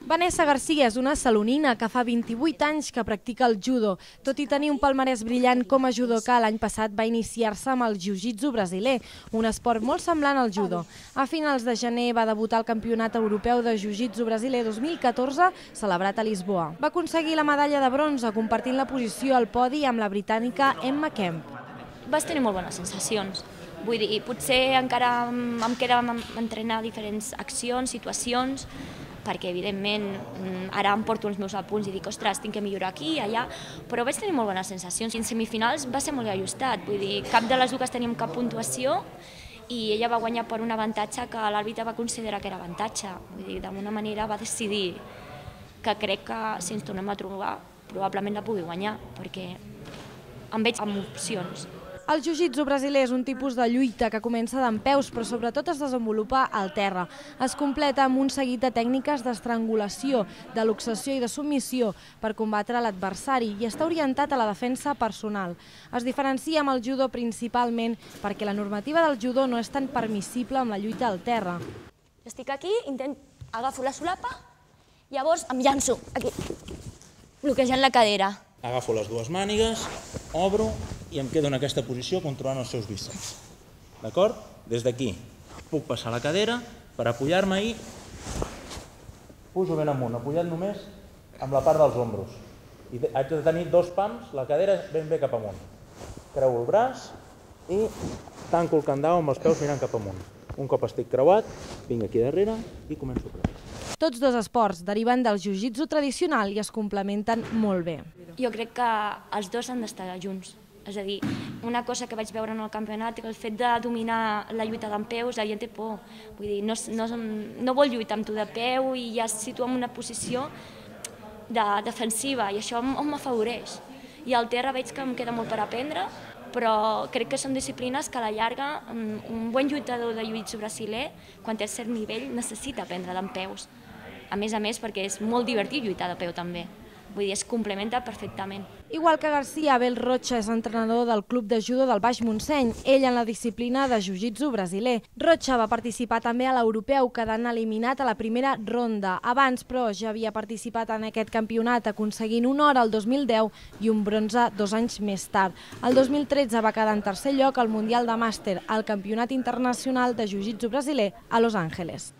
Vanessa García és una salonina que fa 28 anys que practica el judo. Tot i tenir un palmarès brillant com a judoka, l'any passat va iniciar-se amb el jiu-jitsu brasiler, un esport molt semblant al judo. A finals de gener va debutar al Campionat Europeu de Jiu-Jitsu brasiler 2014, celebrat a Lisboa. Va aconseguir la medalla de bronze, compartint la posició al podi amb la britànica Emma Kemp. Vas tenir molt bones sensacions. Vull dir, potser encara em queda entrenar diferents accions, situacions, perquè evidentment ara em porto els meus apunts i dic, ostres, tinc que millorar aquí i allà, però vaig tenir molt bones sensacions. I en semifinals va ser molt ajustat, vull dir, cap de les dues teníem cap puntuació i ella va guanyar per un avantatge que l'àrbitre va considerar que era avantatge. Vull dir, d'alguna manera va decidir que crec que si ens tornem a trobar probablement la pugui guanyar, perquè em veig amb opcions. El jiu-jitsu brasiler és un tipus de lluita que comença dempeus, però sobretot es desenvolupa al terra. Es completa amb un seguit de tècniques d'estrangulació, de luxació i de submissió per combatre l'adversari i està orientat a la defensa personal. Es diferencia amb el judo principalment perquè la normativa del judo no és tan permissible amb la lluita al terra. Estic aquí, agafo la solapa, llavors em llanço aquí, bloquejant la cadera. Agafo les dues mànigues, obro i em quedo en aquesta posició controlant els seus bíceps. D'acord? Des d'aquí puc passar la cadera per apoyar-me i pujo ben amunt, apoyat només amb la part dels ombros. I haig de tenir dos pams, la cadera ben bé cap amunt. Creuo el braç i tanco el candau amb els peus mirant cap amunt. Un cop estic creuat, vinc aquí darrere i començo a creuar. Tots dos esports deriven del jiu-jitsu tradicional i es complementen molt bé. Jo crec que els dos han d'estar junts. És a dir, una cosa que vaig veure en el campionat, el fet de dominar la lluita dempeus, la gent té por. Vull dir, no vol lluitar amb tu de peu i ja es situa en una posició defensiva i això m'afavoreix. I al terra veig que em queda molt per aprendre, però crec que són disciplines que a la llarga un bon lluitador de jiu-jitsu brasiler, quan té cert nivell, necessita aprendre dempeus. A més, perquè és molt divertit lluitar de peu també. Vull dir, es complementa perfectament. Igual que García, Abel Rocha és entrenador del club de judo del Baix Montseny, ell en la disciplina de jiu-jitsu brasiler. Rocha va participar també a l'europeu, quedant eliminat a la primera ronda. Abans, però, ja havia participat en aquest campionat, aconseguint una hora el 2010 i un bronze 2 anys més tard. El 2013 va quedar en tercer lloc al Mundial de Màster, al Campionat Internacional de Jiu-Jitsu brasiler a Los Angeles.